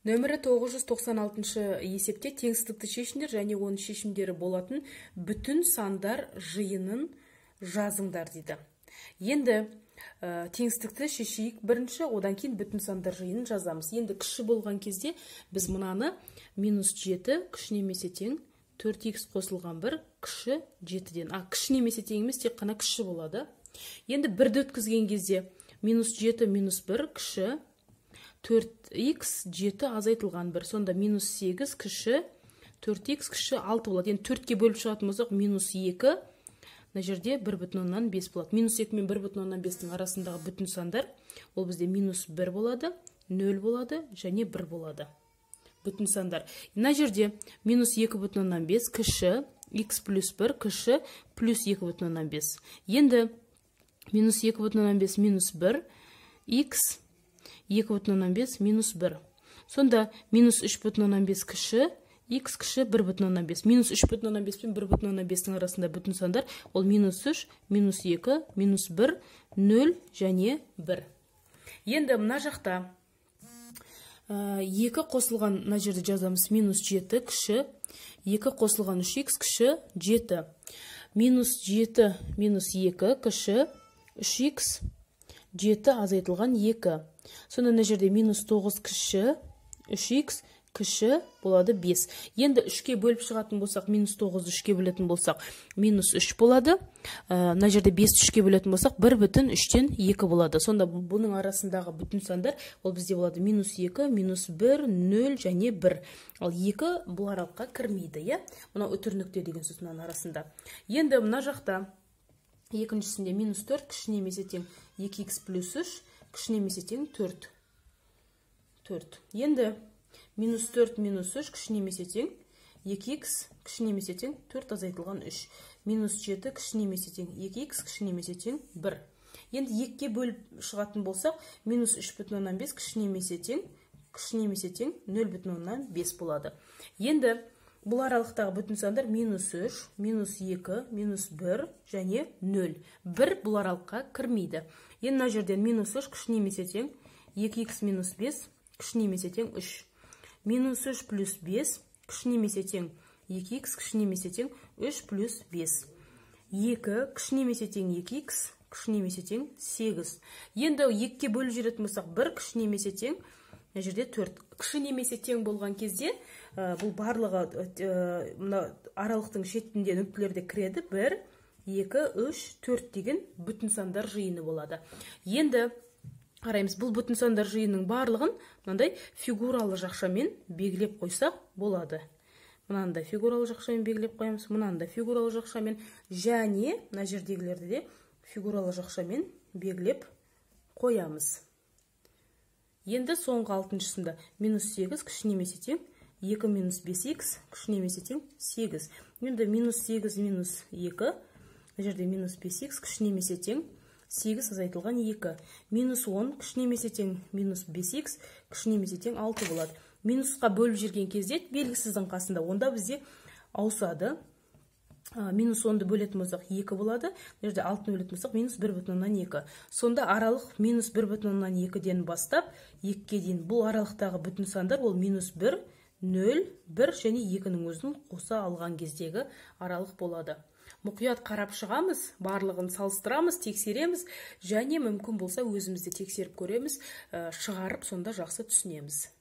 Нөмірі 996 есепте теңсіздікті шешіңдер және оның шешімдері болатын бүтін сандар жиынын жазыңдар дейді. Енді теңсіздікті шешейік бірінші, одан кейін бүтін сандар жиынын жазамыз. Енді кіші болған кезде біз мынаны -7 кіші немесе тең 4х қосылған 1 кіші 7-ден. Кіші немесе тең емес, тек қана кіші болады. Енді бірді өткізген кезде -7 -1 кіші 4х 7 азайтылған 1. Сонда -8 кіші 4х кіші 6 болады. Енді 4-ке бөліп шығатын болсақ -2, мына жерде 1,5 болады. -2 мен 1,5-ның арасындағы бүтін сандар ол бізде -1 болады, 0 болады және 1 болады. Бүтін сандар. Мына жерде -2,5 кіші х плюс 1 кіші плюс 2,5. Енді -2,5 -1 х 2,5 -1. Сонда -3,5 кіші х кіші 1,5. -3,5 пен 1,5-ның арасында бүтін сандар ол -3, -2, -1, 0 және 1. Енді мына жақта 2 қосылған, мына жерде жазамыз -7 кіші 2 қосылған 3х кіші 7. -7 -2 кіші 3х 7 азайтылған 2. Сонда мына жерде -9 кіші 3х кіші болады 5. Енді 3-ке бөліп шығатын болсақ, -9-ды 3-ке бөлетін болсақ, -3 болады. Мына жерде 5-ті 3-ке бөлетін болсақ, 1,3-тен 2 болады. Сонда бұның арасындағы бүтін сандар ол бізде болады -2, -1, 0 және 1. Ал 2 бұл аралыққа кірмейді, Мына үтір нүкте деген сөз мынаның арасында. Енді мына жақта екіншісінде -4 кіші немесе тең 2х плюс 3 кіші немесе тең 4. Енді -4 -3 кіші немесе тең 2х кіші немесе тең 4 азайтылған 3. -7 кіші немесе тең 2х кіші немесе тең 1. Енді 2-ке бөліп шығатын болсақ, -3,5 кіші немесе тең 0,5 болады. Енді бұл аралықтағы бүтін сандар -3, -2, -1 және 0. 1 бұл аралыққа кірмейді. Енді мына жерден -3 кіші немесе тең 2х -5 кіші немесе тең 3. -3 плюс 5 кіші немесе тең 2х кіші немесе тең 3 плюс 5. 2 кіші немесе тең 2х кіші немесе тең 8. Енді 2-ке бөліп жүретін болсақ, 1 кіші немесе тең, мына жерде 4. Кіші немесе тең болған кезде бұл барлығы аралықтың шетінде нүктелерде кіреді. 1, 2, 3, 4 деген бүтін сандар жиыны болады. Енді қараймыз, бұл бүтін сандар жиынының барлығын мынандай фигуралы жақшамен белгілеп қойсақ болады. Мынандай фигуралы жақшамен белгілеп қоямыз, мынандай фигуралы жақшамен және мына жердегілерді де фигуралы жақшамен белгілеп қоямыз. Енді соңғы 6-шысында -8 кіші немесе тең 2 -5х кіші немесе тең 8. Енді -8 -2, мына жерде -5х кіші немесе тең 8 азайтылған 2. -10 кіші немесе тең -5х кіші немесе тең 6 болады. Минусқа бөліп жүрген кезде белгісіздің қасында, онда бізде ауысады. -10-ды бөлетін болсақ 2 болады. Мына жерде 6-ны бөлетін болсақ -1,2. Сонда аралық -1,2-ден бастап 2-ке дейін бұл аралықтағы бүтін сандар ол -1, 0, 1 және 2-ның өзін қоса алған кездегі аралық болады. Мұқият қарап шығамыз, барлығын салыстырамыз, тексереміз және мүмкін болса өзімізде тексеріп көреміз, шығарып сонда жақсы түсінеміз.